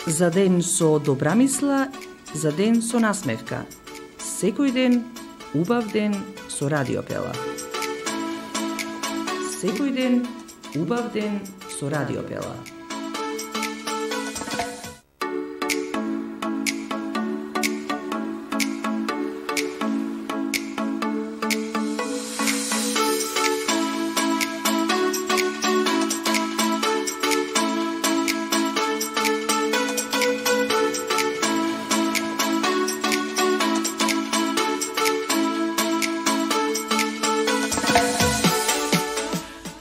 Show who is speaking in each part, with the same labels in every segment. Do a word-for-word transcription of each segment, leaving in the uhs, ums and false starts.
Speaker 1: За ден со добра мисла, за ден со насмевка. Секој ден, убав ден со Радио Пела. Секој ден, убав ден со Радио Пела.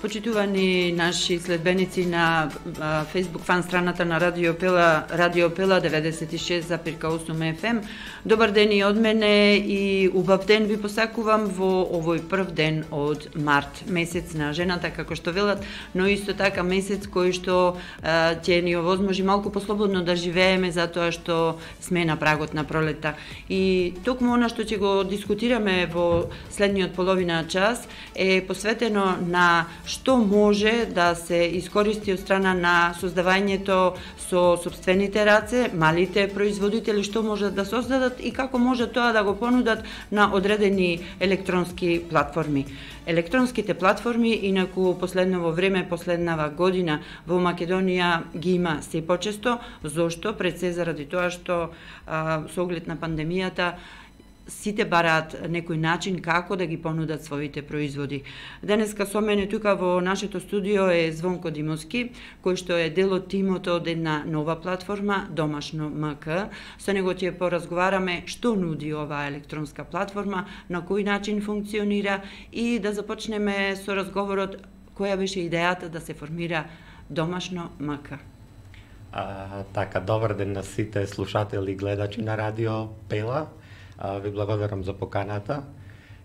Speaker 2: Почитувани наши следбеници на Facebook фан страната на Радио Пела, Радио Пела деветдесет и шест запирка осум еф ем. Добар ден и од мене и убав ден ви посакувам во овој прв ден од март, месец на жената како што велат, но исто така месец кој што а, ќе ни овозможи малку послободно да живееме затоа што сме на прагот на пролета. И токму она што ќе го дискутираме во следниот половина час е посветено на што може да се искористи од страна на создавањето со собствените раце, малите производители, што можат да создадат и како може тоа да го понудат на одредени електронски платформи. Електронските платформи, инаку последново време, последнава година во Македонија ги има се почесто. Зошто? Пред се заради тоа што а, со оглед на пандемијата сите бараат некој начин како да ги понудат своите производи. Денеска со мене тука во нашето студио е Звонко Димовски, кој што е дел од тимот од една нова платформа, Домашно МК. Со него ќе поразговараме што нуди оваа електронска платформа, на кој начин функционира и да започнеме со разговорот која беше идејата да се формира Домашно МК.
Speaker 3: А, така, добар ден на сите слушатели и гледачи на Радио Пела. А, ви благодарам за поканата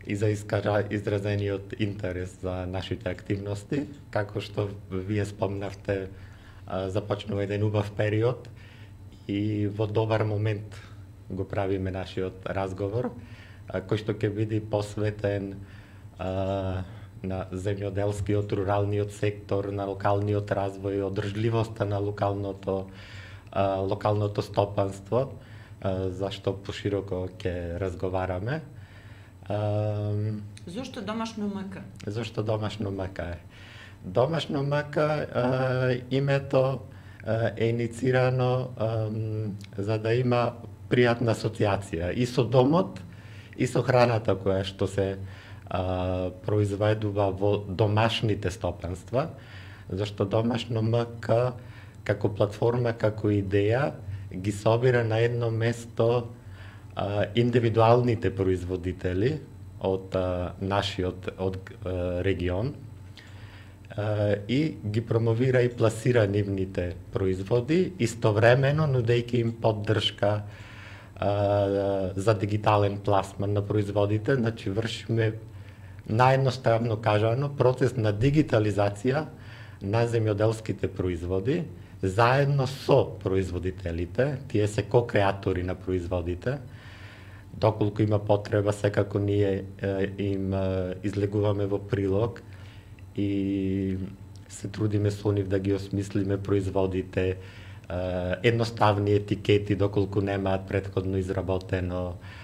Speaker 3: и за искажа, изразениот интерес за нашите активности. Како што вие спомнавте, а, започнува еден убав период и во добар момент го правиме нашиот разговор, а, кој што ќе биде посветен а, на земјоделскиот, руралниот сектор, на локалниот развој, одржливоста на локалното, а, локалното стопанство, зашто пошироко ќе разговараме.
Speaker 2: Зошто Домашно МК?
Speaker 3: Зошто Домашно МК е? Домашно МК името е иницирано за да има пријатна асоциација и со домот и со храната која што се произведува во домашните стопанства, зашто Домашно МК како платформа, како идеја ги собира на едно место а, индивидуалните производители од а, нашиот од а, регион а, и ги промовира и пласира нивните производи, истовремено нудејќи им поддршка а, за дигитален пласман на производите. Значи вршиме наједноставно кажано процес на дигитализација на земјоделските производи заедно со производителите, тие се ко-креатори на производите. Доколку има потреба, секако ние е, им е, излегуваме во прилог и се трудиме со нив да ги осмислиме производите, е, едноставни етикети, доколку немаат претходно изработено, е,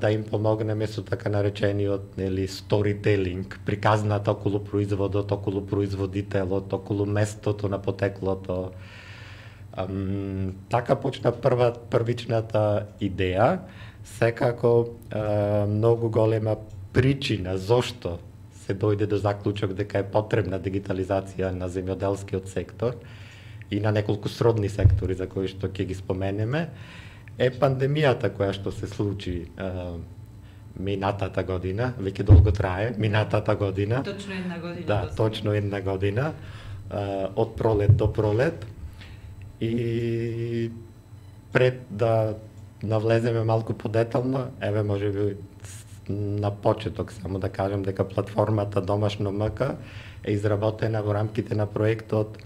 Speaker 3: да им помогнеме со така наречениот, нели, сторителинг, приказната околу производот, околу производителот, околу местото на потеклото. Um, така почна прва, првичната идеја. Секако uh, многу голема причина зошто се дојде до заклучок дека е потребна дигитализација на земјоделскиот сектор и на неколку сродни сектори за кои што ќе ги споменеме, е пандемијата која што се случи uh, минатата година, веќе долго трае, минатата година.
Speaker 2: Точно една година.
Speaker 3: Да, точно една година, uh, од пролет до пролет. И пред да навлеземе малку подетално, еве може би на почеток само да кажам дека платформата Домашно МК е изработена во рамките на проектот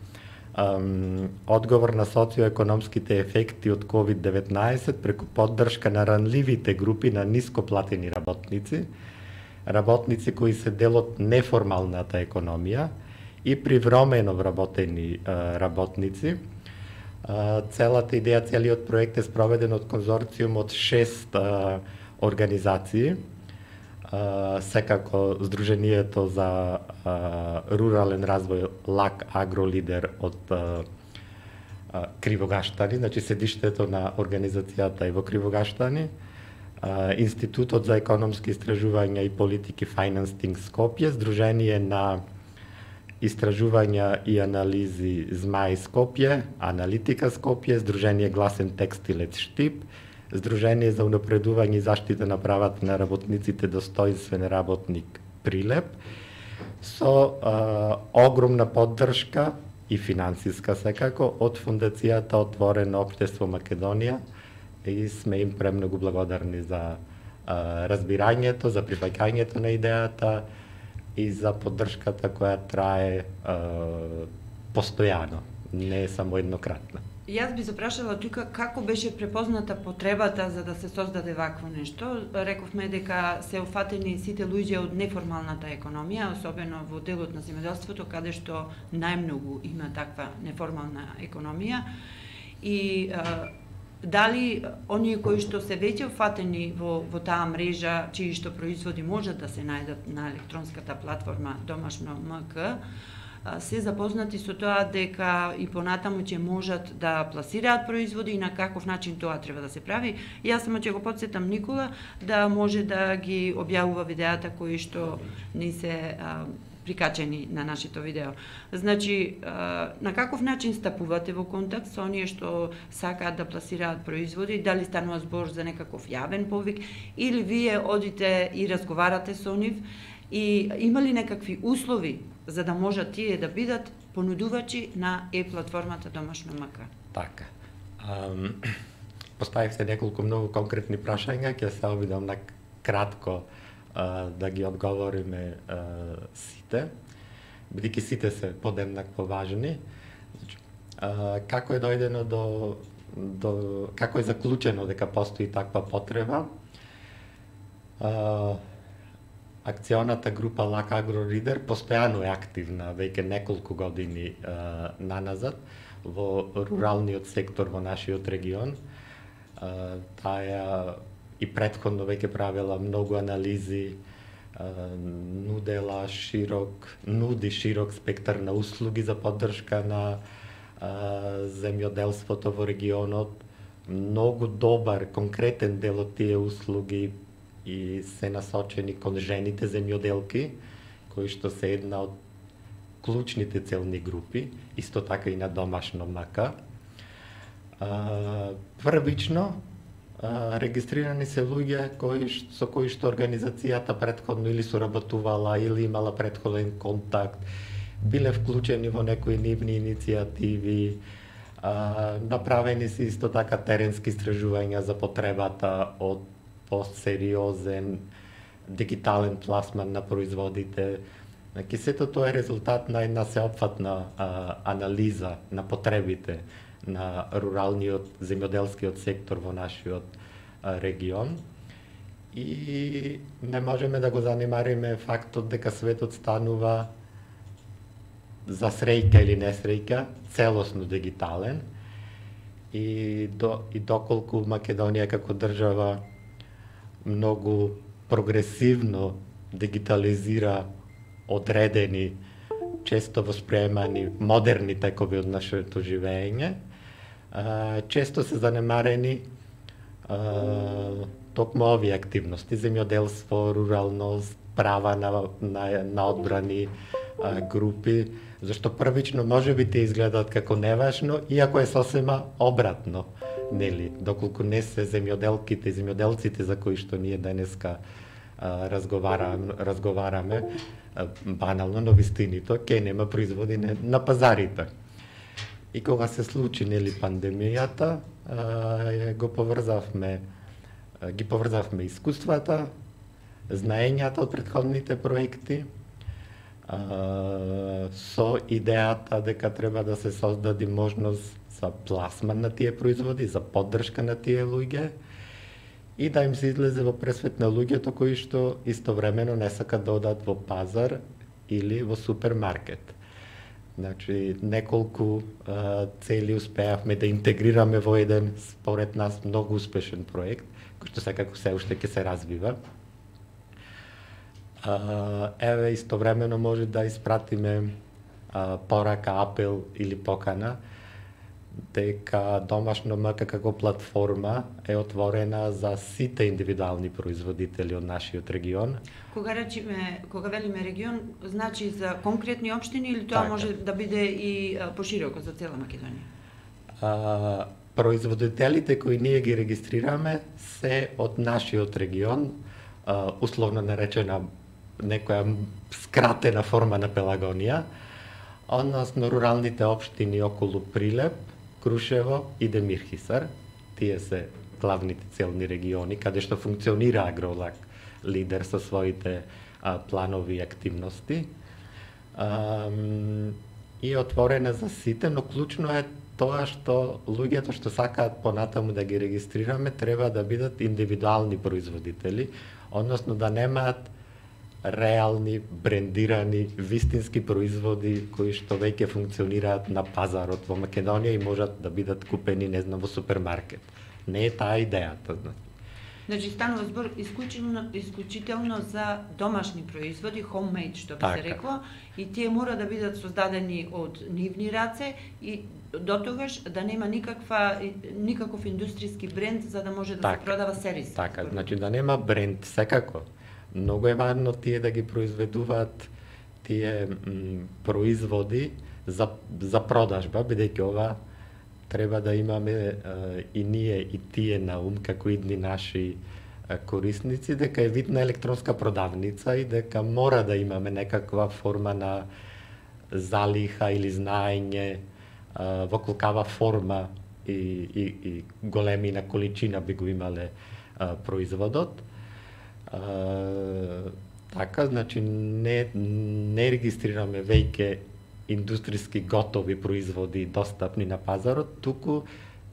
Speaker 3: um, одговор на социоекономските ефекти од ковид деветнаесет преку поддршка на ранливите групи на нископлатени работници, работници кои се дел од неформалната економија и привремено вработени uh, работници, Целата идеја, целиот проект е спроведен од конзорциум од шест а, организации. А, секако Сдруженијето за а, рурален развој ЛАК Агролидер од а, а, Кривогаштани, значи седиштето на организацијата е во Кривогаштани, а, Институтот за економски истражувања и политики Financing Скопје, Сдружение на истражувања и анализи Змај Скопје, Аналитика Скопје, Сдружение Гласен текстилец Штип, Сдружение за унапредување и заштита на правата на работниците Достоинствен работник Прилеп, со а, огромна поддршка и финансиска секако од Фундацијата Отворено општество Македонија, и сме им премногу благодарни за а, разбирањето, за прифаќањето на идејата и за поддршката која трае а, постојано, не само еднократна.
Speaker 2: Јас би запрашала тука како беше препозната потребата за да се создаде вакво нешто. Рековме дека се уфатени сите луѓе од неформалната економија, особено во делот на земјоделството, каде што најмногу има таква неформална економија. И а, дали оние кои што се веќе уфатени во, во таа мрежа, чии што производи можат да се најдат на електронската платформа Домашно МК, се запознати со тоа дека и понатаму ќе можат да пласираат производи и на каков начин тоа треба да се прави. Јас само ќе го потсетам Никола да може да ги објавува видеата кои што не се а, прикачени на нашето видео. Значи, а, на каков начин стапувате во контакт со оние што сакаат да пласираат производи, дали станува збор за некаков јавен повик, или вие одите и разговарате со нив, и има ли некакви услови за да можат тие да бидат понудувачи на е-платформата Домашно МК?
Speaker 3: Така. Um, поставивте неколку многу конкретни прашања, ќе се обидам на кратко uh, да ги одговориме uh, сите, бидејќи сите се подеднакво важни. Uh, како е дојдено до, до како е заклучено дека постои таква потреба? Uh, Акционата група ЛАК Агролидер постојано е активна веќе неколку години е, наназад во руралниот сектор во нашиот регион. Е, таа и претходно веќе правила многу анализи, е, нудела широк, нуди широк спектар на услуги за поддршка на е, земјоделството во регионот. Многу добар, конкретен дел од тие услуги и се насочени кон жените земјоделки, кои што се една од клучните целни групи, исто така и на Домашно МК. Првично регистрирани се луѓе кои, со кои што организацијата претходно или соработувала, или имала претходен контакт, биле вклучени во некои нивни иницијативи, направени се исто така теренски истражувања за потребата од посериозен дигитален пласман на производите. Значи, сето тоа е резултат на една сеопфатна а, анализа на потребите на руралниот земјоделскиот сектор во нашиот а, регион. И не можеме да го занимариме фактот дека светот станува за среќа или несреќа целосно дигитален. И, до, и доколку Македонија како држава многу прогресивно дигитализира одредени, често восприемани модерни текови од нашето живење, често се занемарени токму овие активности, земјоделство, руралност, права на, на, на одбрани групи, зашто првично можеби те изгледаат како неважно, иако е сосема обратно. Нели, доколку не се земјоделките и земјоделците за кои што ние денеска а, разговараме, разговараме а, банално, но вистинито, ке нема производи на, на пазарите. И кога се случи нели пандемијата, а, го поврзавме, а, ги поврзавме искуствата, знаењата од претходните проекти, а, со идејата дека треба да се создаде можност за пласман на тие производи, за поддршка на тие луѓе и да им се излезе во пресвет на луѓето кои што истовремено не сакат да одат во пазар или во супермаркет. Значи, неколку а, цели успеавме да интегрираме во еден, според нас, многу успешен проект, кој што секако се уште ќе се развива. А, еве, истовремено може да испратиме а, порака, апел или покана, дека Домашно МК како платформа е отворена за сите индивидуални производители од нашиот регион.
Speaker 2: Кога речиме, кога велиме регион, значи за конкретни општини или тоа
Speaker 3: така.
Speaker 2: Може да биде и пошироко за цела Македонија?
Speaker 3: А, производителите кои ние ги регистрираме се од нашиот регион, а, условно наречена некоја скратена форма на Пелагонија, односно руралните општини околу Прилеп, Крушево и Демирхисар. Тие се главните целни региони каде што функционира Агролак лидер со своите а, планови и активности. А, и отворена за сите, но клучно е тоа што луѓето што сакаат понатаму да ги регистрираме треба да бидат индивидуални производители, односно да немаат реални, брендирани, вистински производи кои што веќе функционираат на пазарот во Македонија и можат да бидат купени, не знам, во супермаркет. Не е таа идејата.
Speaker 2: Значи, станува збор исклучително, исклучително за домашни производи, homemade, што би
Speaker 3: така.
Speaker 2: се рекло, и тие мора да бидат создадени од нивни раце и дотогаш да нема никаква никаков индустријски бренд за да може да така. Се продава сервис.
Speaker 3: Така, значи да нема бренд секако. Многу е важно тие да ги произведуваат тие м, производи за, за продажба, бидејќи ова треба да имаме е, и ние и тие на ум како идни наши е, корисници, дека е вид на електронска продавница и дека мора да имаме некаква форма на залиха или знаење е, во колкава форма и, и, и големина количина би го имале е, производот. Uh, така, значи не, не регистрираме веќе индустријски готови производи достапни на пазарот, туку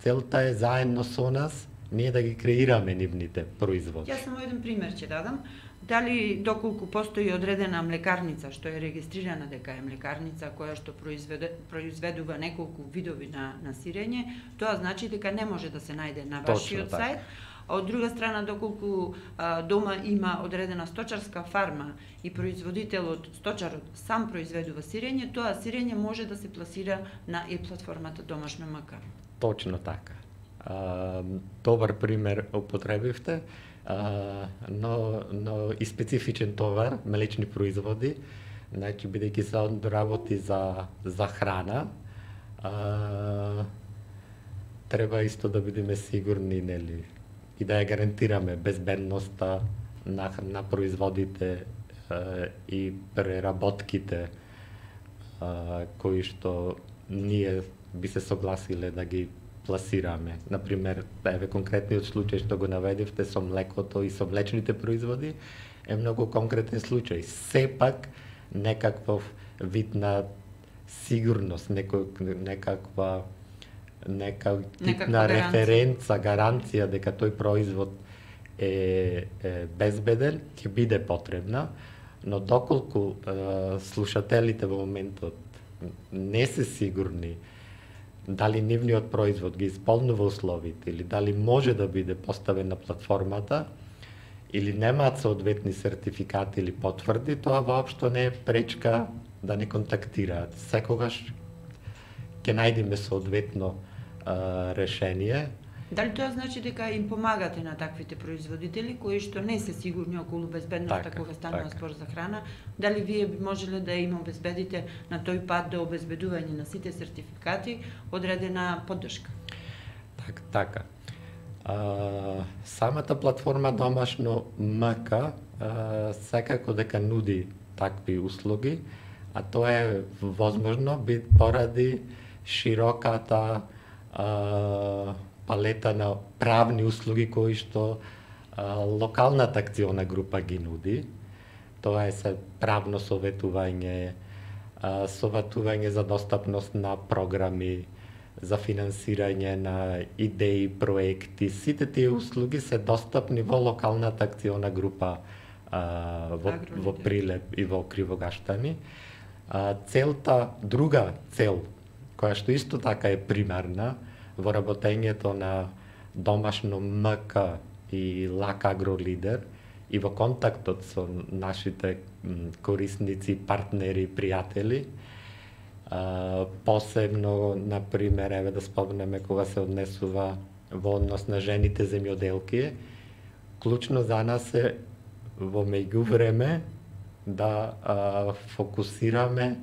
Speaker 3: целта е заедно со нас ние да ги креираме нивните производи.
Speaker 2: Јас само еден пример ќе дадам. Дали доколку постои одредена млекарница што е регистрирана дека е млекарница која што произведе, произведува неколку видови на, на сирење, тоа значи дека не може да се најде на вашиот
Speaker 3: така.
Speaker 2: сајт. А од друга страна, доколку а, дома има одредена сточарска фарма и производителот, сточарот сам произведува сирење, тоа сирење може да се пласира на e-платформата Домашно МК.
Speaker 3: Точно така. А, добар пример употребивте, а, но, но и специфичен товар, млечни производи, значи бидејќи се работи за, за храна, а, треба исто да бидеме сигурни, нели, и да ја гарантираме безбедноста на, на производите е, и преработките е, кои што ние би се согласиле да ги пласираме. Например, еве конкретниот случај што го наведивте со млекото и со млечните производи е многу конкретен случај. Сепак некаков вид на сигурност, некој, некаква нека тип на референца, гаранција дека тој производ е, е безбеден, ќе биде потребна, но доколку е, слушателите во моментот не се сигурни дали нивниот производ ги исполнува условите или дали може да биде поставен на платформата или немаат соодветни сертификати или потврди, тоа воопшто не е пречка да не контактираат. Секогаш ќе најдеме соодветно а, решение.
Speaker 2: Дали тоа значи дека им помагате на таквите производители кои што не се сигурни околу безбедноста
Speaker 3: така,
Speaker 2: кога станува
Speaker 3: така.
Speaker 2: спор за храна? Дали вие би можеле да им обезбедите на тој пат до обезбедување на сите сертификати одредена поддршка?
Speaker 3: Так, така. А, самата платформа Домашно МК а, секако дека нуди такви услуги, а тоа е возможно би поради широката а, палета на правни услуги кои што а, локалната акциона група ги нуди. Тоа е се правно советување, а, советување за достапност на програми, за финансирање на идеи, проекти. Сите тие услуги се достапни во локалната акциона група а, во, во Прилеп и во Кривогаштани. А, целта, друга цел, која што исто така е примарна во работењето на домашно М К и Лак Агролидер и во контактот со нашите корисници, партнери, пријатели, а, посебно, например, еве да спомнеме кога се однесува во однос на жените земјоделки, клучно за нас е во меѓувреме да а, фокусираме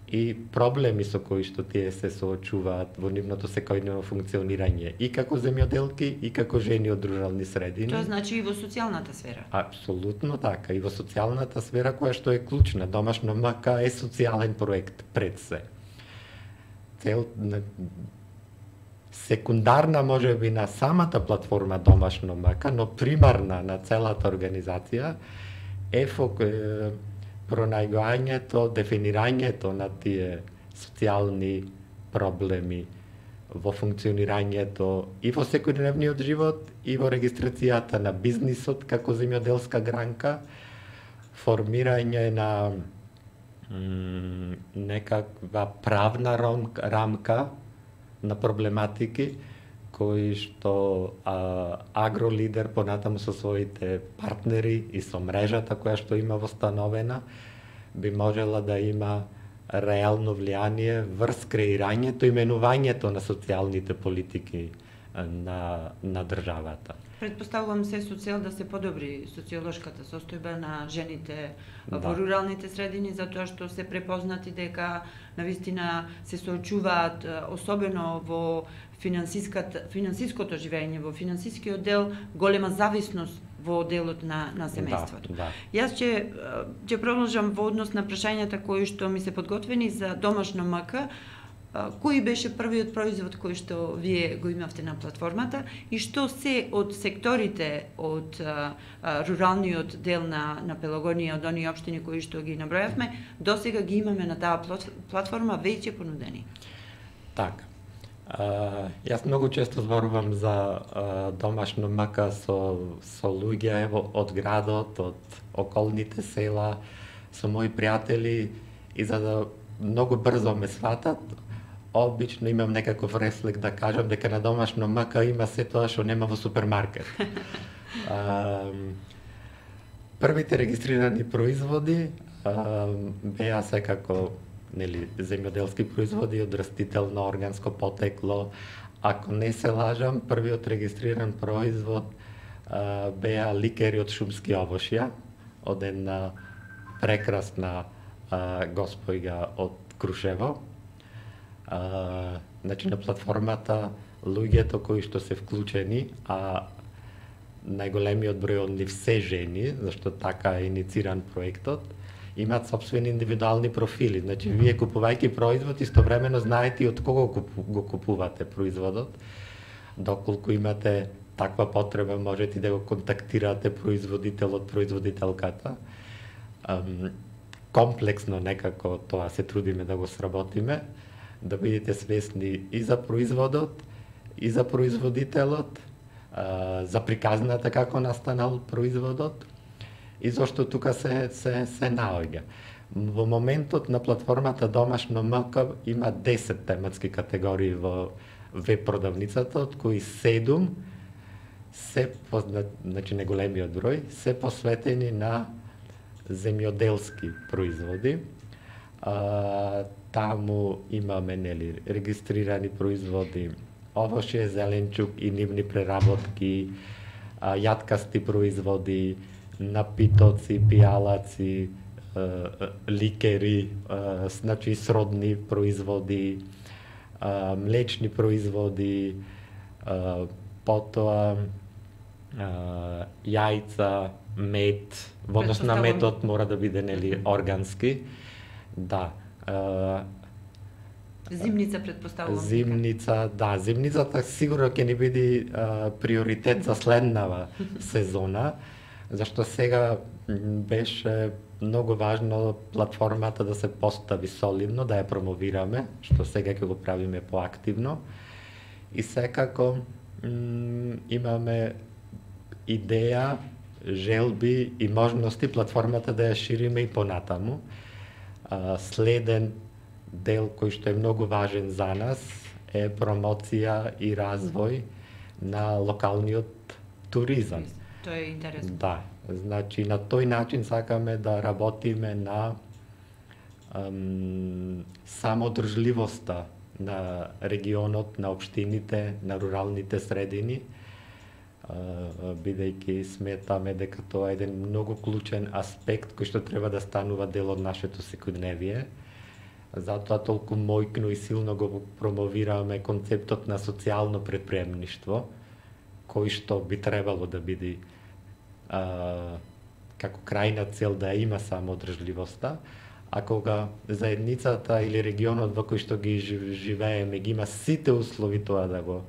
Speaker 3: и проблеми со кои што тие се соочуваат во нивното секојдневно функционирање и како земјоделки и како жени од рурални средини.
Speaker 2: Тоа значи и во социјалната сфера.
Speaker 3: Апсолутно така, и во социјалната сфера која што е клучна. Домашно М К е социјален проект пред се. Цел секундарна можеби на самата платформа Домашно М К, но примарна на целата организација е фок пронајгањето, дефинирањето на тие социјални проблеми во функционирањето и во секојдневниот живот и во регистрацијата на бизнисот како земјоделска гранка, формирање на м, некаква правна рамка на проблематики кои што а, Агролидер понатаму со своите партнери и со мрежата која што има востановена би можела да има реално влијание врз креирањето и менувањето на социјалните политики на, на државата.
Speaker 2: Предпоставувам се со цел да се подобри социолошката состојба на жените
Speaker 3: Да.
Speaker 2: во руралните средини, затоа што се препознати дека навистина се соочуваат особено во финансиското живење, во финансискиот дел, голема зависност во делот на, на семејството.
Speaker 3: Да, да.
Speaker 2: Јас ќе, ќе продолжам во однос на прашањата кои што ми се подготвени за домашно М К. Кој беше првиот производ кој што вие го имавте на платформата и што се од секторите од а, а, руралниот дел на, на Пелагонија, од оние општини кои што ги набројавме, досега ги имаме на таа платформа веќе понудени?
Speaker 3: Така. Uh, јас многу често зборувам за uh, домашно М К со, со луѓе ево, од градот, од околните села, со мои пријатели и за да многу брзо ме сватат, обично имам некаков рефлек да кажам дека на домашно М К има се тоа што нема во супермаркет. uh, првите регистрирани производи uh, беа секако нели земјоделски производи од растително органско потекло. Ако не се лажам, првиот регистриран производ а, беа ликери од шумски овошја, од една прекрасна а, госпојка од Крушево. А, значи на платформата луѓето кои што се вклучени, а најголемиот број од нив се жени, зашто така е инициран проектот, имаат собствени индивидуални профили. Значи, вие купувајќи производ, истовремено знаете и од кого го купувате производот. Доколку имате таква потреба, можете да го контактирате производителот, производителката. Um, комплексно некако тоа се трудиме да го сработиме, да бидете свесни и за производот, и за производителот, uh, за приказната како настанал производот, и зашто тука се, се, се наоѓа. Во моментот на платформата Домашно М К има десет тематски категории во веб продавницата, од кои седум се, значи неголемиот број, се посветени на земјоделски производи. А, таму имаме нели регистрирани производи овошје, зеленчук и нивни преработки, а, јаткасти производи, напитоци, пијалаци, ликери, значи сродни производи, млечни производи, потоа јајца, мед, во однос на медот мора да биде нели органски. Да.
Speaker 2: Зимница предпоставувам.
Speaker 3: Зимница, да, зимницата сигурно ќе ни биде приоритет за следнава сезона. Зашто сега беше многу важно платформата да се постави солидно, да ја промовираме, што сега ќе го правиме поактивно. И секако имаме идеја, желби и можности платформата да ја шириме и понатаму. А, следен дел кој што е многу важен за нас е промоција и развој на локалниот туризам.
Speaker 2: Тоа е интересно.
Speaker 3: Да, значи на тој начин сакаме да работиме на ам, самоодржливоста на регионот, на општините, на руралните средини, бидејќи сметаме дека тоа е еден многу клучен аспект кој што треба да станува дел од нашето секојдневие. Затоа толку мојкно и силно го промовираме концептот на социјално предприемништво, кој што би требало да биде а, како крајна цел да има самоодржливоста, а кога заедницата или регионот во кој што ги живееме ги има сите услови тоа да го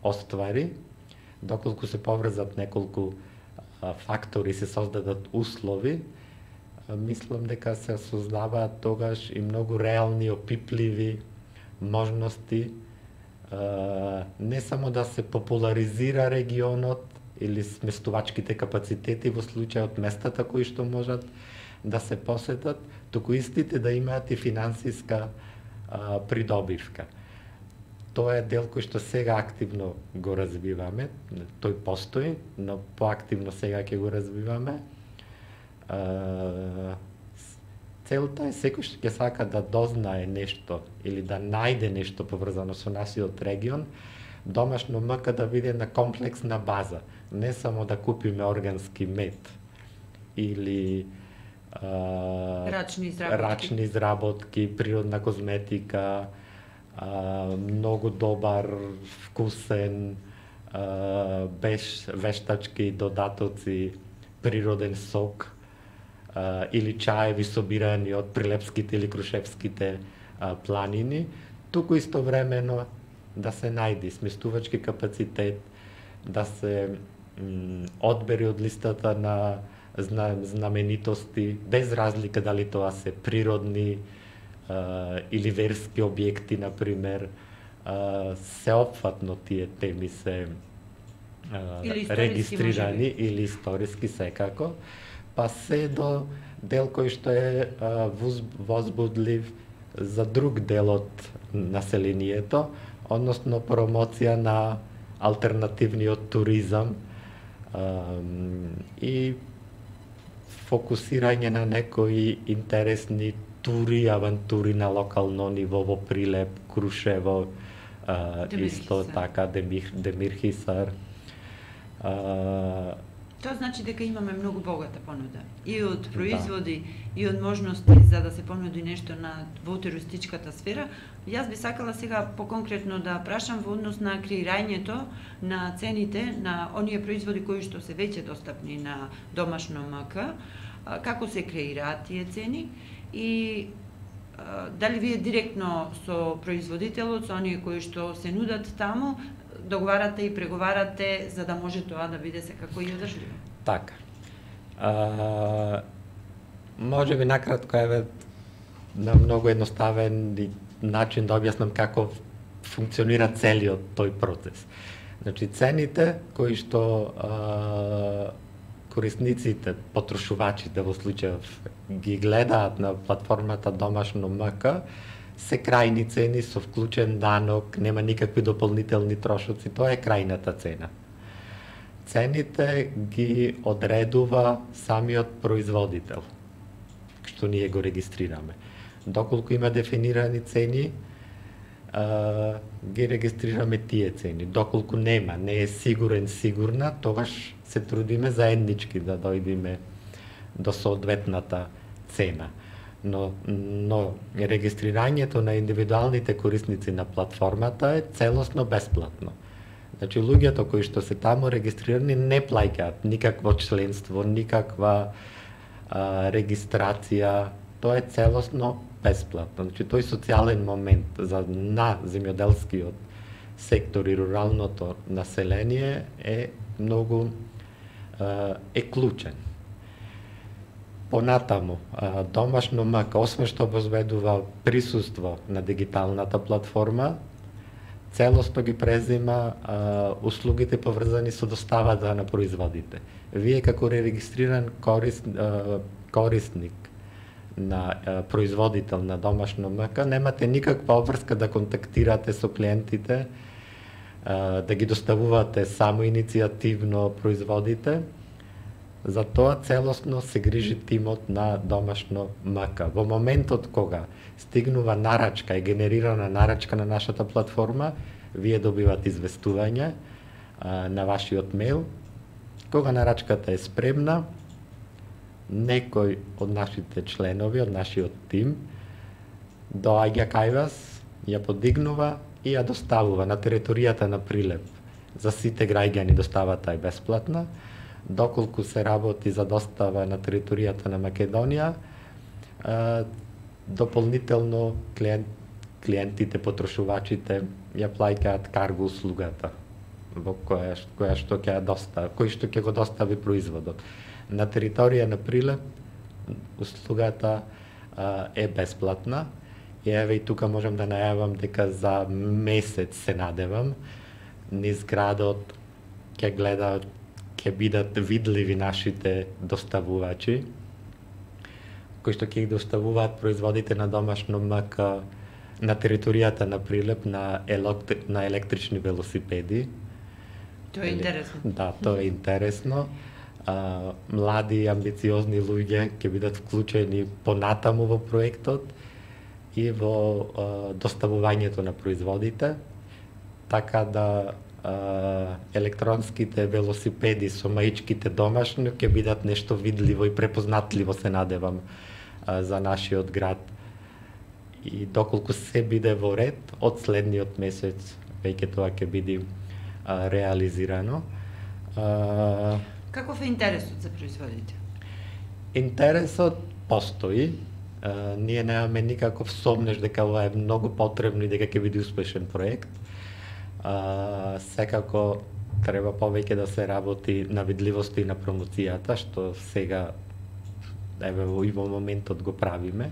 Speaker 3: оствари, доколку се поврзат неколку а, фактори, се создадат услови, а, мислам дека се создаваат тогаш и многу реални, опипливи можности, а, не само да се популаризира регионот или сместувачките капацитети во случајот местата кои што можат да се посетат, туку истите да имаат и финансиска а, придобивка. Тоа е дел кој што сега активно го развиваме, тој постои, но поактивно сега ќе го развиваме. А, целта е секој што ќе сака да дознае нешто или да најде нешто поврзано со нашиот регион, домашно МК да биде на комплексна база, не само да купиме органски мед или а,
Speaker 2: рачни изработки.
Speaker 3: рачни изработки, природна козметика, а, многу добар, вкусен, а, беш, вештачки додатоци, природен сок а, или чаеви собирани од Прилепските или Крушевските а, планини, туку истовремено да се најди сместувачки капацитет, да се м, одбери од листата на знаменитости, без разлика дали тоа се природни а, или верски објекти, например, а, сеопфатно тие теми се а,
Speaker 2: или
Speaker 3: регистрирани или историски секако, па се до дел кој што е а, возбудлив за друг дел од населението, односно промоција на алтернативниот туризам а, и фокусирање на некои интересни тури, авантури на локално ниво во Прилеп, Крушево, а, исто така Демир, Демирхисар. А,
Speaker 2: Тоа значи дека имаме многу богата понуда и од производи,
Speaker 3: да,
Speaker 2: и од можности за да се понуди нешто на во туристичката сфера. Јас би сакала сега поконкретно да прашам во однос на креирањето на цените на оние производи кои што се веќе достапни на домашно МК, како се креираат тие цени и дали вие директно со производителот, со оние кои што се нудат таму, договарате и преговарате за да може тоа да биде секако и одржливо?
Speaker 3: Така. А, може би накратко еве на многу едноставен начин да објаснам како функционира целиот тој процес. Значи цените кои што а, корисниците, потрошувачите во случајов ги гледаат на платформата Домашно МК, се крајни цени со вклучен данок, нема никакви дополнителни трошоци, тоа е крајната цена. Цените ги одредува самиот производител, што ние го регистрираме. Доколку има дефинирани цени, а, ги регистрираме тие цени. Доколку нема, не е сигурен, сигурна, тогаш се трудиме заеднички да дојдеме до соодветната цена. Но, но регистрирањето на индивидуалните корисници на платформата е целосно бесплатно. Значи, луѓето кои што се таму регистрирани не плаќаат никакво членство, никаква а, регистрација, тоа е целосно бесплатно. Значи, тој социјален момент за на земјоделскиот сектор и руралното население е многу а, е клучен. Понатаму, Домашно МК, освен што обезбедува присуство на дигиталната платформа, целосно ги презима а, услугите поврзани со доставата на производите. Вие како регистриран корис, а, корисник на а, производител на домашно мка, немате никаква обврска да контактирате со клиентите, а, да ги доставувате само иницијативно производите. За тоа целосно се грижи тимот на домашно мка. Во моментот кога стигнува нарачка и генерирана нарачка на нашата платформа, вие добивате известување а, на вашиот мејл. Кога нарачката е спремна, некој од нашите членови, од нашиот тим, доаѓа кај вас, ја подигнува и ја доставува на територијата на Прилеп. За сите граѓани доставата е бесплатна. Доколку се работи за достава на територијата на Македонија, дополнително клиент, клиентите, потрошувачите ја плаќаат карго услугата во која, која што ќе достави, кој што ќе го достави производот. На територија на Прилеп услугата а, е бесплатна. И еве и тука можам да најавам дека за месец се надевам низ градот ќе гледаат, ќе бидат видливи нашите доставувачи кои што ќе ги доставуваат производите на домашно мка на територијата на Прилеп на, електри, на електрични велосипеди.
Speaker 2: Тоа е интересно.
Speaker 3: Да, тоа е интересно. А, млади и амбициозни луѓе ќе бидат вклучени понатаму во проектот и во а, доставувањето на производите, така да а, електронските велосипеди со маичките домашни ќе бидат нешто видливо и препознатливо, се надевам, а, за нашиот град. И доколку се биде во ред, од следниот месец веќе тоа ќе биде а, реализирано. А,
Speaker 2: Каков е интересот за производите?
Speaker 3: Интересот постои. Uh, ние немаме никаков сомнеш дека ова е многу потребно и дека ќе биде успешен проект. Uh, секако треба повеќе да се работи на видливоста и на промоцијата, што сега еве и во моментот го правиме,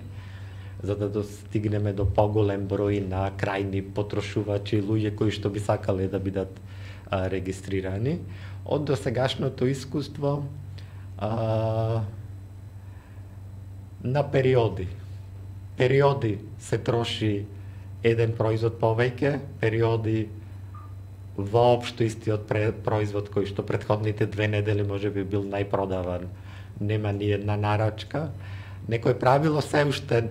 Speaker 3: за да достигнеме до поголем број на крајни потрошувачи, луѓе кои што би сакале да бидат uh, регистрирани. Од досегашното искуство, uh, на периоди. Периоди се троши еден производ повеќе, периоди воопшто истиот производ кој што претходните две недели може би бил најпродаван, нема ни една нарачка. Некој правило се уште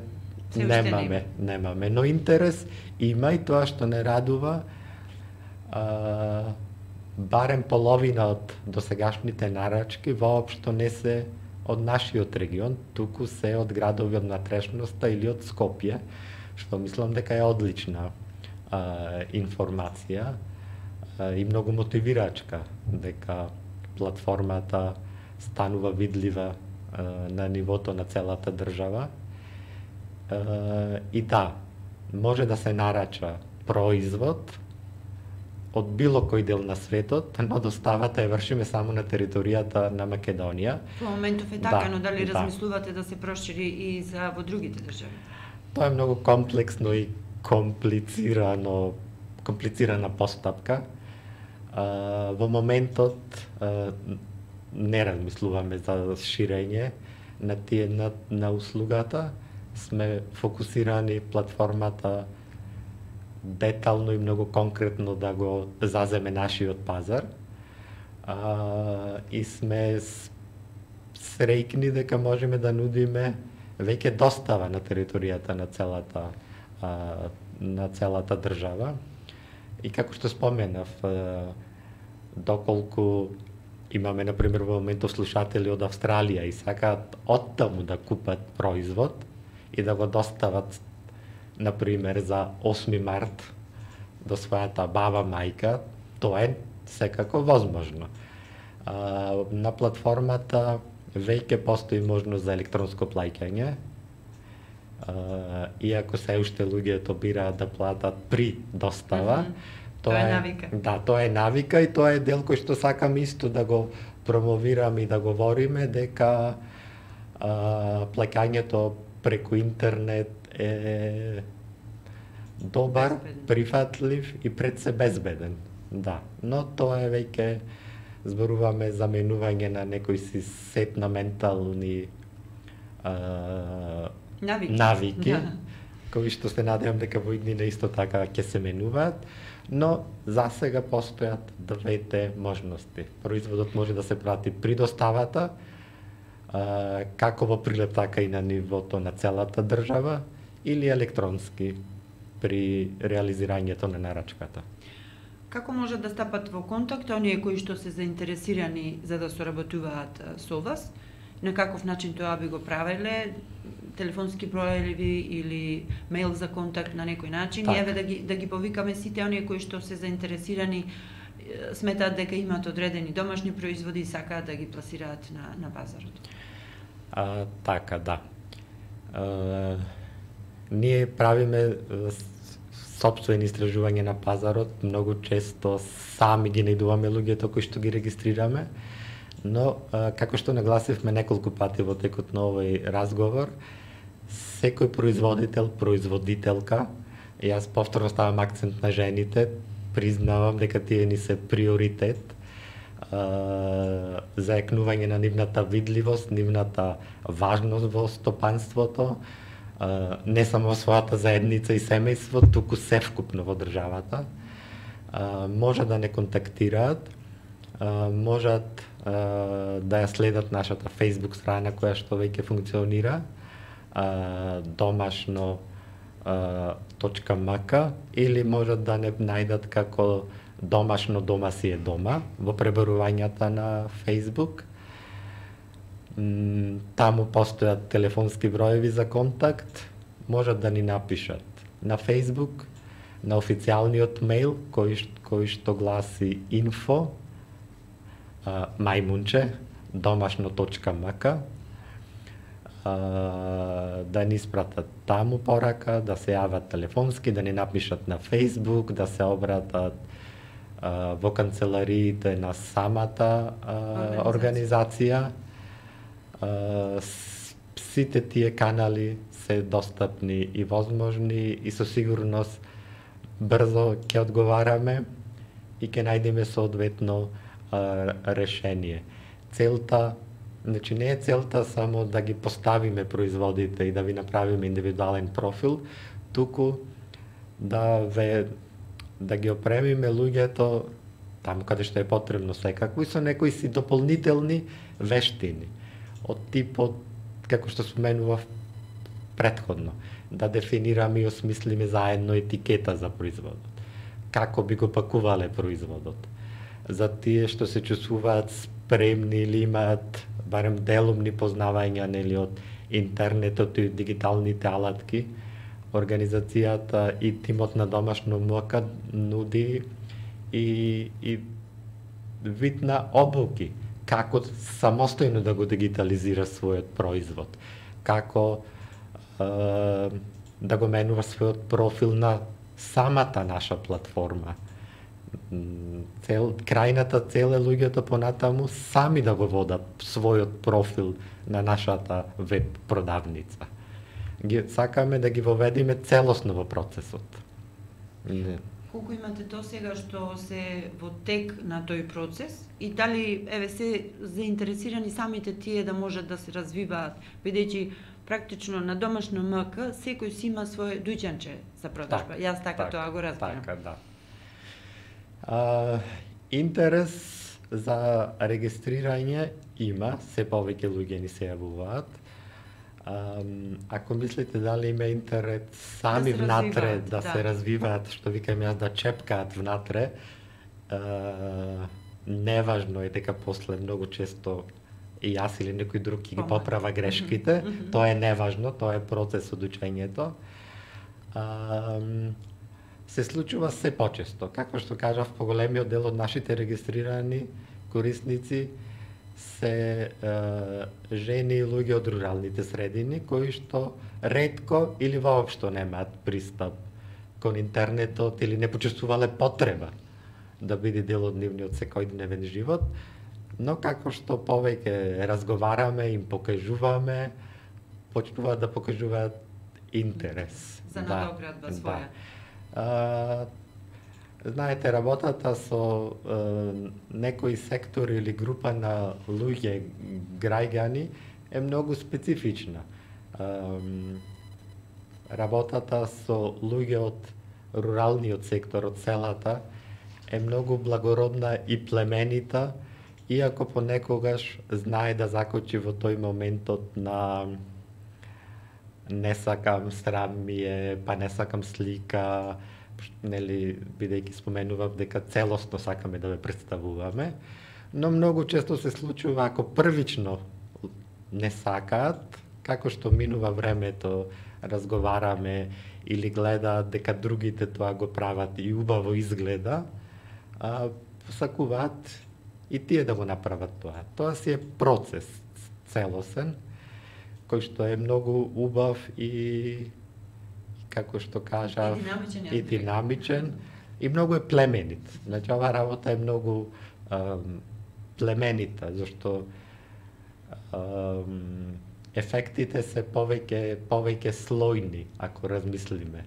Speaker 2: се
Speaker 3: немаме, уште немаме, но интерес има и тоа што не радува, а, барем половина од досегашните нарачки воопшто не се од нашиот регион, туку се од градови од натрешноста или од Скопје, што мислам дека е одлична а, информација а, и многу мотивирачка, дека платформата станува видлива а, на нивото на целата држава. А, и да, може да се нарача производ од било кој дел на светот, но доставата ја вршиме само на територијата на Македонија.
Speaker 2: Во моментов е така,
Speaker 3: да,
Speaker 2: но дали
Speaker 3: да.
Speaker 2: размислувате да се прошири и за во другите држави?
Speaker 3: Тоа е многу комплексно и комплицирано, комплицирана постапка. А, во моментот а, не размислуваме за ширење на тие на, на услугата. Сме фокусирани платформата детално и многу конкретно да го заземе нашиот пазар. А, и сме среќни дека можеме да нудиме веќе достава на територијата на целата а, на целата држава. И како што споменав, а, доколку имаме на пример во моментов слушатели од Австралија и сакаат оттаму да купат производ и да го достават на пример за осми март до својата баба, мајка, тоа е секако возможно. А, на платформата веќе постои можност за електронско плаќање. А, иако се уште луѓето бираат да платат при достава,
Speaker 2: mm-hmm. тоа, тоа е навика.
Speaker 3: Да, тоа е навика и тоа е дел кој што сакам исто да го промовираме и да говориме дека а, плаќањето преку интернет е добар, безбеден, прифатлив и пред се безбеден. Да, но тоа е веќе зборуваме за менување на некои си сет на ментални а,
Speaker 2: навики,
Speaker 3: навики
Speaker 2: да.
Speaker 3: кои што се надевам дека во иднина исто така ќе се менуваат, но за сега постојат двете можности. Производот може да се прати при доставата, а, како во прилеп, така и на нивото на целата држава, или електронски при реализирањето на нарачката.
Speaker 2: Како може да стапат во контакт оние кои што се заинтересирани за да соработуваат со вас? На каков начин тоа би го правеле? Телефонски броеви или мејл за контакт на некој начин?
Speaker 3: Так.
Speaker 2: И еве да ги да ги повикаме сите оние кои што се заинтересирани, сметаат дека имаат одредени домашни производи и сакаат да ги пласираат на на пазарот.
Speaker 3: А, така, да. А, ние правиме сопствени истражувања на пазарот, многу често сами ги најдуваме луѓето кои што ги регистрираме, но а, како што нагласивме неколку пати во текот на овој разговор, секој производител, производителка, јас повторно ставам акцент на жените, признавам дека тие ни се приоритет а, за екнување на нивната видливост, нивната важност во стопанството, а, не само во својата заедница и семејство, туку севкупно во државата. А, може да не контактираат, а, можат а, да ја следат нашата Facebook страна која што веќе функционира, а, домашно точка мк, или можат да не најдат како домашно дома си е дома во пребарувањата на Facebook. Таму постојат телефонски броеви за контакт, можат да ни напишат на Facebook, на официјалниот мејл кој, кој што гласи info мајмунче домашно точка мк, да ни испратат таму порака, да се јават телефонски, да ни напишат на Facebook, да се обратат а, во канцелариите на самата а, организација. А, сите тие канали се достапни и возможни и со сигурност брзо ќе одговараме и ќе најдеме соодветно а, решение. Целта Значи не е целта само да ги поставиме производите и да ви направиме индивидуален профил, туку да ве да ги опремиме луѓето таму каде што е потребно секако и со некои си дополнителни вештини од типот како што споменував претходно, да дефинираме и осмислиме заедно етикета за производот. Како би го пакувале производот? За тие што се чувствуваат спремни или имаат барем делумни познавања нели од интернетот и дигиталните алатки, организацијата и тимот на домашно МК нуди и, и вид на обуки, како самостојно да го дигитализира својот производ, како е, да го менува својот профил на самата наша платформа. Цел, крајната цел е луѓето понатаму сами да го водат својот профил на нашата веб продавница. Ги, сакаме да ги воведиме целосно во процесот. Не.
Speaker 2: Колку имате до сега што се во тек на тој процес и дали еве се заинтересирани самите тие да можат да се развиваат, бидејќи практично на домашно МК секој си има свое дуќанче за продажба. Так, Јас така, така тоа го разбирам.
Speaker 3: Така, да. А, интерес за регистрирање има, се повеќе луѓе ни се јавуваат. А, ако мислите дали има интерес сами да внатре да, да се развиваат, што викам јас, да чепкаат внатре, а, неважно е дека после многу често и јас или некој друг ги поправа грешките, mm -hmm. тоа е неважно, тоа е процес од учењето. А, се случува се почесто. Како што кажав, поголемиот дел од нашите регистрирани корисници се е, жени и луѓе од руралните средини, кои што ретко или воопшто немаат пристап кон интернетот или не почувствувале потреба да биде дел од нивниот секојдневен живот, но како што повеќе разговараме, им покажуваме, почнуваат да покажуваат интерес.
Speaker 2: За надоградба да, своја.
Speaker 3: Да. Знаете, работата со е, некои сектори или група на луѓе, граѓани, е многу специфична. Е, работата со луѓе од руралниот сектор, од селата, е многу благородна и племенита, иако понекогаш знае да закочи во тој моментот на не сакам, срам ми е, па не сакам слика, нели, бидејќи споменував дека целосно сакаме да ве представуваме, но многу често се случува ако првично не сакаат, како што минува времето, разговараме или гледаат дека другите тоа го прават и убаво изгледа, а, посакуваат и тие да го направат тоа. Тоа си е процес целосен, кој што е многу убав и, како што кажав,
Speaker 2: и динамичен,
Speaker 3: и, динамичен, и многу е племенит. Значи, ова работа е многу ам, племенита, зашто ам, ефектите се повеќе повеќе слојни, ако размислиме.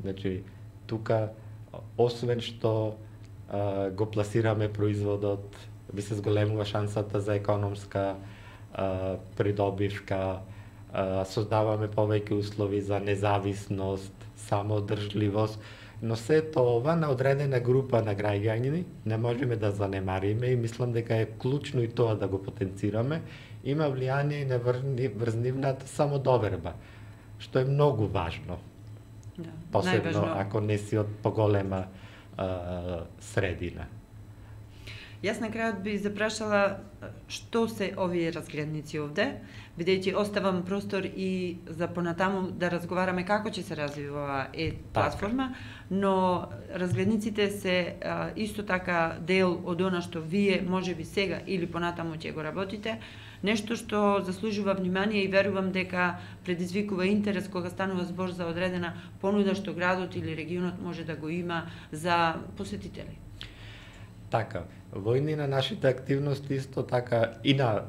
Speaker 3: Значи, тука, освен што а, го пласираме производот, би се зголемува шансата за економска а, придобивка, а, создаваме повеќе услови за независност, самоодржливост, но сето ова на одредена група на граѓани не можеме да занемариме и мислам дека е клучно и тоа да го потенцираме. Има влијание и на врзнивната самодоверба, што е многу важно.
Speaker 2: Да,
Speaker 3: посебно
Speaker 2: најважно.
Speaker 3: Ако не си од поголема а, средина.
Speaker 2: Јас на крајот би запрашала што се овие разгледници овде, бидејќи оставам простор и за понатаму да разговараме како ќе се развива оваа е платформа, но разгледниците се а, исто така дел од она што вие можеби сега или понатаму ќе го работите, нешто што заслужува внимание и верувам дека предизвикува интерес кога станува збор за одредена понуда што градот или регионот може да го има за посетители.
Speaker 3: Така, во едни на нашите активности исто така и на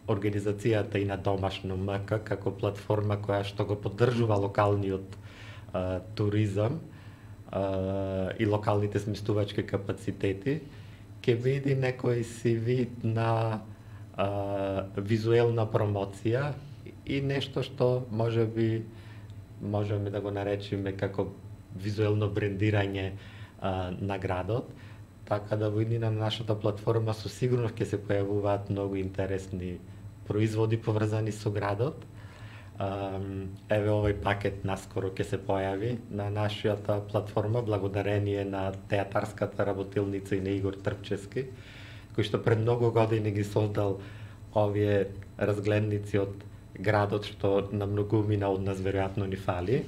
Speaker 3: организацијата и на Домашно МК како платформа која што го поддржува локалниот а, туризам а, и локалните сместувачки капацитети, ќе види некој си вид на а, визуелна промоција и нешто што може би можеме да го наречеме како визуелно брендирање а, на градот. Така да во иднина на нашата платформа со сигурност ќе се појавуваат многу интересни производи поврзани со градот. Еве овој пакет наскоро ќе се појави на нашата платформа благодарение на театарската работилница и на Игор Трпчевски, кој што пред многу години ги создал овие разгледници од градот што на многумина од нас веројатно ни фали.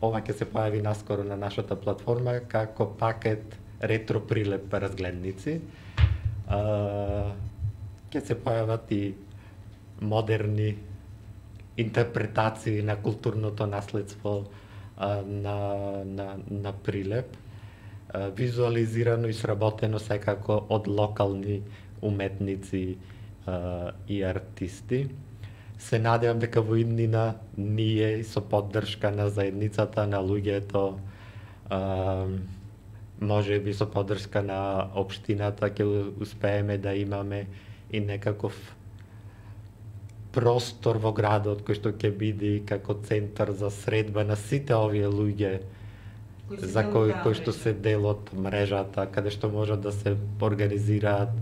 Speaker 3: Ова ќе се појави наскоро на нашата платформа како пакет ретро прилеп разгледници. Ќе се појават и модерни интерпретации на културното наследство на, на, на прилеп, визуализирано и сработено секако од локални уметници и артисти. Се надевам дека во иднина ние со поддршка на заедницата, на луѓето, може би со поддршка на општината ќе успееме да имаме и некаков простор во градот кој што ќе биде како центар за средба на сите овие луѓе за кои кои што се дел од мрежата, каде што можат да се организираат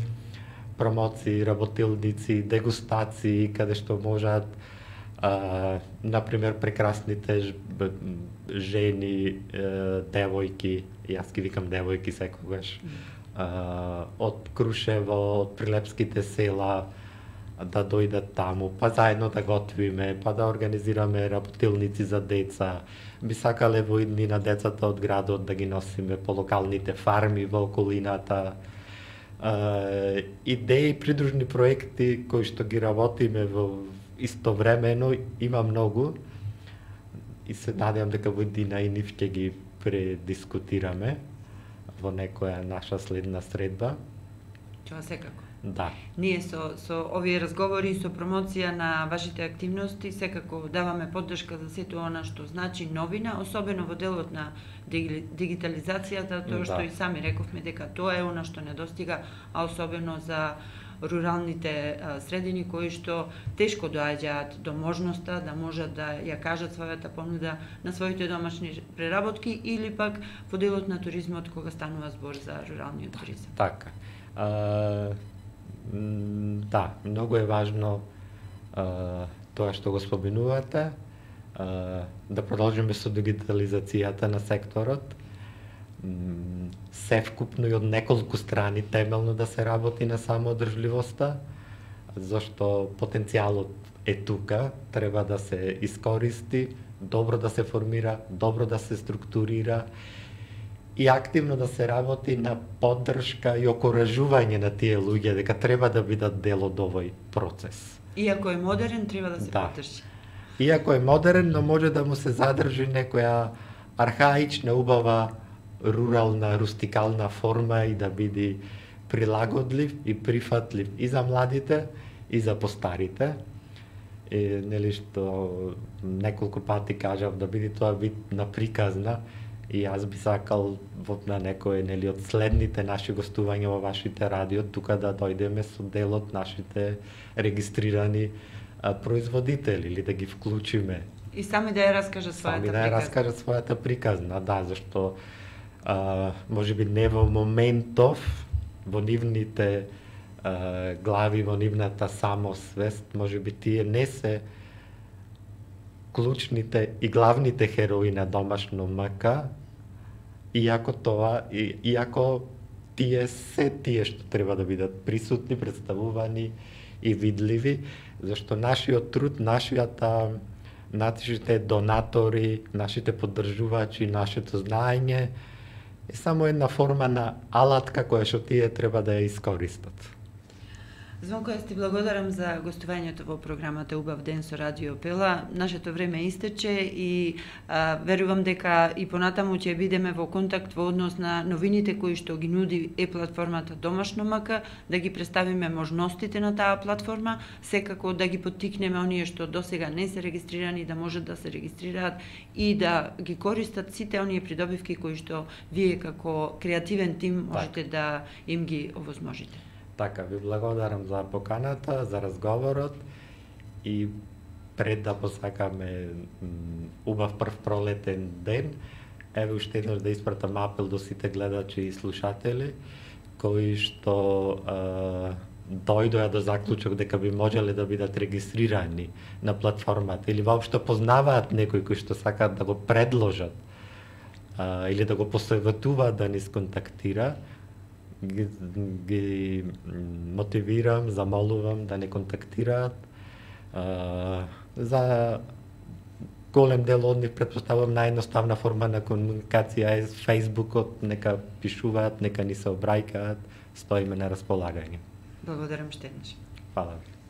Speaker 3: промоции, работилници, дегустации, каде што можат, а, например, прекрасните жени, девојки, јас ги викам девојки секогаш, а, од Крушево, од прилепските села, да дојдат таму, па заедно да готвиме, па да организираме работилници за деца. Би сакале во иднина децата од градот да ги носиме по локалните фарми во околината. Uh, идеи, придружни проекти кои што ги работиме во истовремено има многу и се надевам дека во иднина и нив ќе ги предискутираме во некоја наша следна средба.
Speaker 2: Тоа секако.
Speaker 3: Да.
Speaker 2: Ние со, со овие разговори и со промоција на вашите активности секако даваме поддршка за сето она што значи новина, особено во делот на дигитализацијата, тоа што
Speaker 3: да.
Speaker 2: и сами рековме дека тоа е она што недостига, а особено за руралните средини кои што тешко доаѓаат до можноста да можат да ја кажат својата понуда на своите домашни преработки или пак во делот на туризмот кога станува збор за руралниот туризам.
Speaker 3: Така. А, да, многу е важно а, тоа што го споменувате, а, да продолжиме со дигитализацијата на секторот, севкупно и од неколку страни темелно да се работи на самоодржливоста, зашто потенцијалот е тука, треба да се искористи, добро да се формира, добро да се структурира и активно да се работи на поддршка и окоражување на тие луѓе дека треба да бидат дел од овој процес.
Speaker 2: Иако е модерен, треба да се да. поддржи.
Speaker 3: Иако е модерен, но може да му се задржи некоја архаична, убава, рурална, рустикална форма и да биде прилагодлив и прифатлив и за младите, и за постарите. И, нели што неколку пати кажав да биде тоа вид на приказна и јас би сакал во на некој нели од следните наши гостувања во вашите радио тука да дојдеме со дел од нашите регистрирани а, производители или да ги вклучиме.
Speaker 2: И сами да ја раскажат својата
Speaker 3: сами
Speaker 2: приказна.
Speaker 3: да ја раскажат својата приказна, да, зашто а, може би не во моментов во нивните а, глави, во нивната самосвест, може би тие не се клучните и главните херои на домашно МК, иако тоа, и, иако тие се тие што треба да бидат присутни, представувани и видливи, зашто нашиот труд, нашијата, нашите донатори, нашите поддржувачи, нашето знаење е само една форма на алатка која што тие треба да ја искористат.
Speaker 2: Звонко, јас ти благодарам за гостувањето во програмата Убав ден со Радио Пела. Нашето време истече и а, верувам дека и понатаму ќе бидеме во контакт во однос на новините кои што ги нуди е платформата Домашно МК, да ги представиме можностите на таа платформа, секако да ги поттикнеме оние што досега не се регистрирани да можат да се регистрираат и да ги користат сите оние придобивки кои што вие како креативен тим можете да им ги овозможите.
Speaker 3: Така, ви благодарам за поканата, за разговорот и пред да посакаме убав прв пролетен ден, еве уште еднаш да испратам апел до сите гледачи и слушатели кои што е, дојдоа до заклучок дека би можеле да бидат регистрирани на платформата или воопшто познаваат некој кој што сакаат да го предложат е, или да го посоветуваат да ни сконтактира. Ги, ги мотивирам, замолувам да не контактираат. А, за голем дел од нив претпоставувам наједноставна форма на комуникација е Фејсбукот, нека пишуваат, нека ни се обрајкаат, стоиме на располагање.
Speaker 2: Благодарам штеднаш.
Speaker 3: Фала ви.